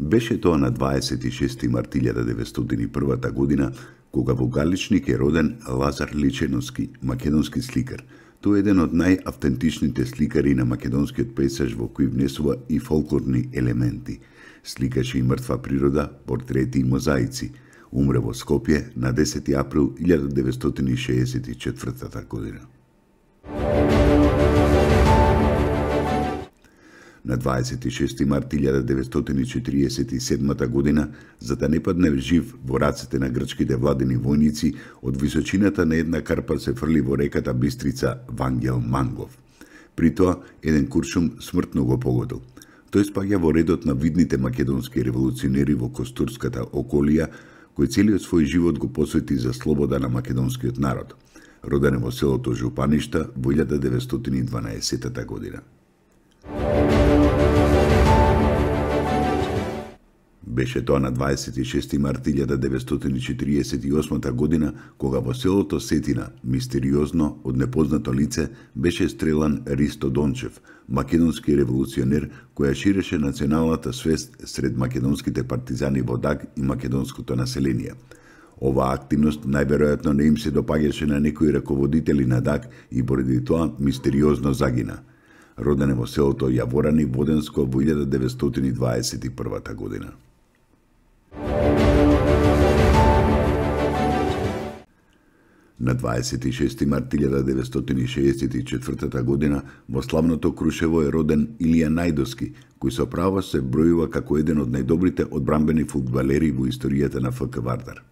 Беше тоа на 26. март 1901 година, кога во Галичник е роден Лазар Личеновски, македонски сликар. Тој е еден од најавтентичните сликари на македонскиот пейзаж во кој внесува и фолклорни елементи. Сликаше и мртва природа, портрети и мозаици. Умре во Скопје на 10. април 1964 година. На 26. март 1947 година, за да не падне жив во рацете на грчките владени војници, од височината на една карпа се фрли во реката Бистрица Вангел Мангов. При тоа, еден куршум смртно го погодил. Тој спаѓа во редот на видните македонски револуционери во Костурската околија, кој целиот свој живот го посвети за слобода на македонскиот народ. Роден е во селото Жупаништа во 1912 година. Беше тоа на 26. март 1948 година, кога во селото Сетина, мистериозно, од непознато лице, беше стрелан Ристо Дончев, македонски револуционер која ширеше националната свест сред македонските партизани во Даг и македонското население. Оваа активност најверојатно не им се допаѓаше на некои раководители на Даг и поради тоа мистериозно загина. Роден е во селото Јаворани, Воденско во 1921 година. На 26. март 1964 година во славното Крушево е роден Илија Најдовски, кој со право се бројува како еден од најдобрите одбранбени фудбалери во историјата на ФК Вардар.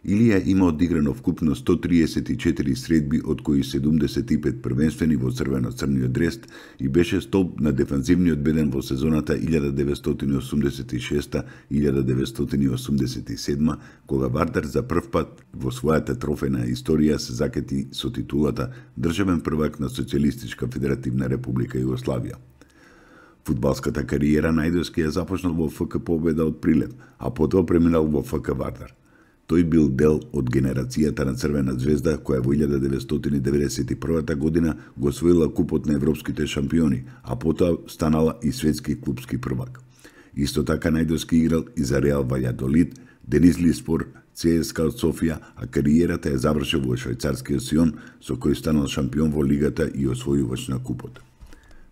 Илија има одиграно вкупно 134 средби, од кои 75 првенствени во црвено-црниот дрест и беше столб на дефанзивниот беден во сезоната 1986-1987, кога Вардар за прв пат во својата трофејна историја се закети со титулата државен првак на Социјалистичка Федеративна Република Југославија. Фудбалската кариера Најдовски ја започнал во ФК Победа од Прилеп, а потоа преминал во ФК Вардар. Тој бил дел од генерацијата на Црвена звезда, која во 1991 година го освоила купот на европските шампиони, а потоа станала и светски клупски првак. Исто така Најдовски играл и за Реал Ваљадолид, Денизлиспор, ЦСКА од Софија, а кариерата ја завршил во швајцарскиот Сион, со кој станал шампион во лигата и освојувач на купот.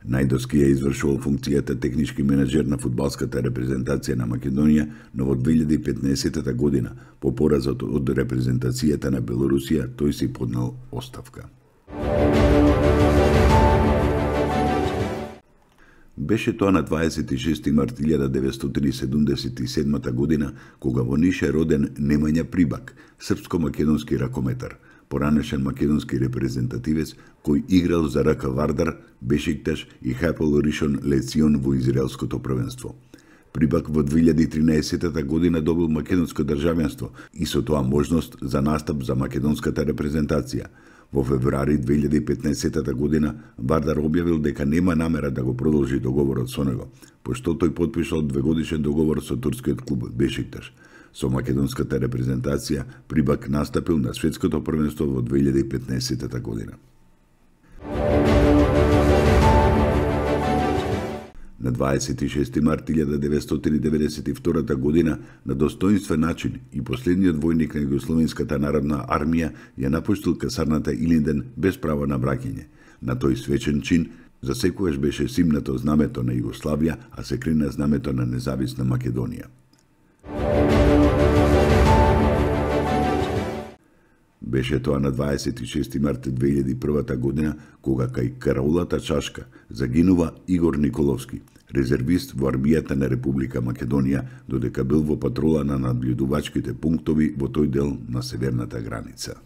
Најдовски ја извршувал функцијата технички менеджер на фудбалската репрезентација на Македонија, но во 2015 година, по поразот од репрезентацијата на Белорусија, тој си поднел оставка. Беше тоа на 26. март 1977 година, кога во Ниш е роден Немања Прибак, српско-македонски ракометар, поранешен македонски репрезентативец кој играл за РК Вардар, Бешикташ и Хапел Ришон Лецион во израелското првенство. Прибак во 2013 година добил македонско државенство и со тоа можност за настап за македонската репрезентација. Во февруари 2015 година Вардар објавил дека нема намера да го продолжи договорот со него, пошто тој потпишал 2-годишен договор со турскиот клуб Бешикташ. Со македонската репрезентација Прибак настапил на светското првенство во 2015 година. На 26. март 1992 година на достоинствен начин и последниот војник на Југословенската народна армија ја напуштил касарната Илинден без право на враќање. На тој свечен чин за секогаш беше симнато знамето на Југославија, а се крина знамето на независна Македонија. Беше тоа на 26. март 2001 година, кога кај караулата чашка загинува Игор Николовски, резервист во армијата на Република Македонија, додека бил во патрола на надблюдувачките пунктови во тој дел на северната граница.